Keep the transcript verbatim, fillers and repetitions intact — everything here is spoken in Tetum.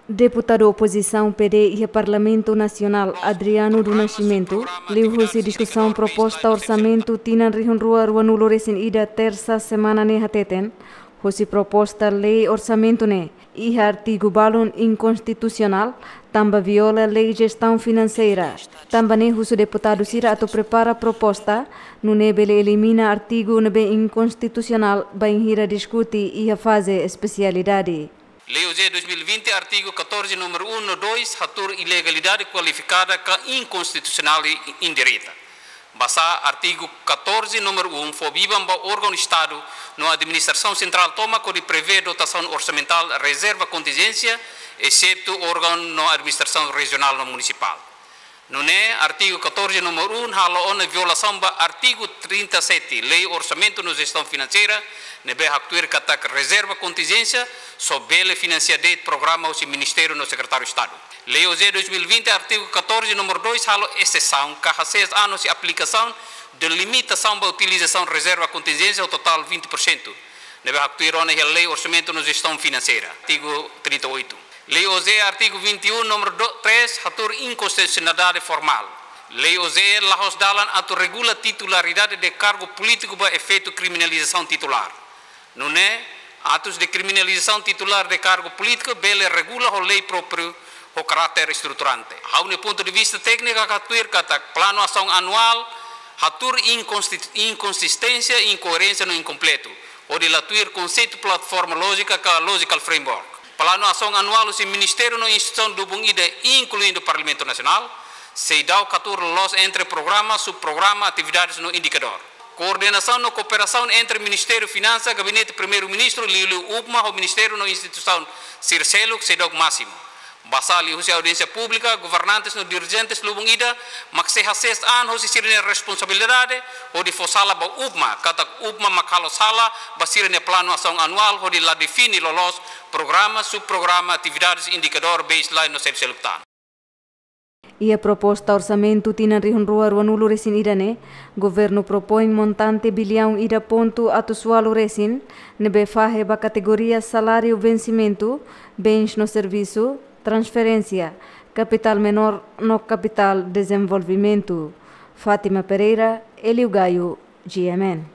Deputadu opozisaun P D iha Parlamentu Nasionál, Adriano do Nascimento, liuhusi diskusaun proposta orsamentu tinan rihun rua ruanulu resin ida, Tersa semana ne'e, hateten, husi proposta lei orsamentu ne'e iha artigu balun inkonstitusionál, tanba viola Lei Jestaun Finanseira. Tanba ne'e husu deputadu sira atu prepara proposta nune'e bele elimina artigu ne'ebé inkonstitusionál, bainhira diskute iha faze espesialidade. Lei OJE dois mil e vinte, artigu catorze, número um no dois, hatuur ilegalidade kualifikada ka inkonstitusionál i indireta. Basá artigu catorze, número um, fó biban ba órgaun Estadu no administrasaun sentrál tomak hodi prevee dotasaun orsamentál rezerva kontinjénsia, exetu órgaun no administrasaun rejionál no munisipál. Nune'e, artigu catorze, número um, halo ona violasaun ba artigu trinta e sete, Lei Orsamentu no Jestaun Finanseira, ne'ebé haktuir katak rezerva kontinjénsia só bele finansia de'it programa husi Ministériu no Sekretáriu Estadu. Lei OJE dois mil e vinte, artigu catorze, número dois, halo exesaun ka hasees an husi aplikasaun de limitasaun ba utilizasaun rezerva kontinjénsia ho totál vinte por cento, ne'ebé haktuir ona iha Lei Orsamentu no Jestaun Finanseira, artigu trinta e oito. Lei OJE, artigu vinte e um, número do, três, hatuur inkonstitusionalidade formál. Lei OJE la'ós dalan atu regula titularidade de kargu polítiku ba efeitu kriminalizasaun titulár. Nune'e, atus de kriminalizasaun titulár de kargu polítiku bele regula ho lei própriu ho karáter estruturante. Ha'u-nia pontu de vista tékniku haktuir katak planu asaun anuál hatuur inkonsti-, inkonsisténsia, inkoerénsia no inkompletu, hodi la tuir konseitu plataforma lójika ka logical framework. Planu asaun anuál husi ministériu no instituisaun lubun ida, inkluindu Parlamentu Nasionál, seidauk hatuur loloos entre programa, subprograma, atividades no indikadór. Koordenasaun no kooperasaun entre Ministériu Finansa, Gabinete Primeiru-Ministru, liuliu UPMA, ho ministériu no instituisaun sira seluk seidauk másimu. Basá liuhusi audiénsia públika, governantes no dirijentes lubun ida mak sei hasees an husi sira-nia responsabilidade hodi fó sala ba UPMA, katak UPMA mak halo sala ba sira-nia planu asaun anuál hodi la define loloos programa, subprograma, atividades, indikadór, baseline no seluk-seluk tan. Iha proposta orsamentu tinan rihun rua ruanulu resin ida ne'e, governu propoin montante biliaun ida pontu atus ualu resin, ne'ebé fahe ba kategoria saláriu vensimentu, bens no servisu, transferénsia, kapitál menór no kapitál dezenvolvimentu. Fátima Pereira, Hélio Gaio, G M N.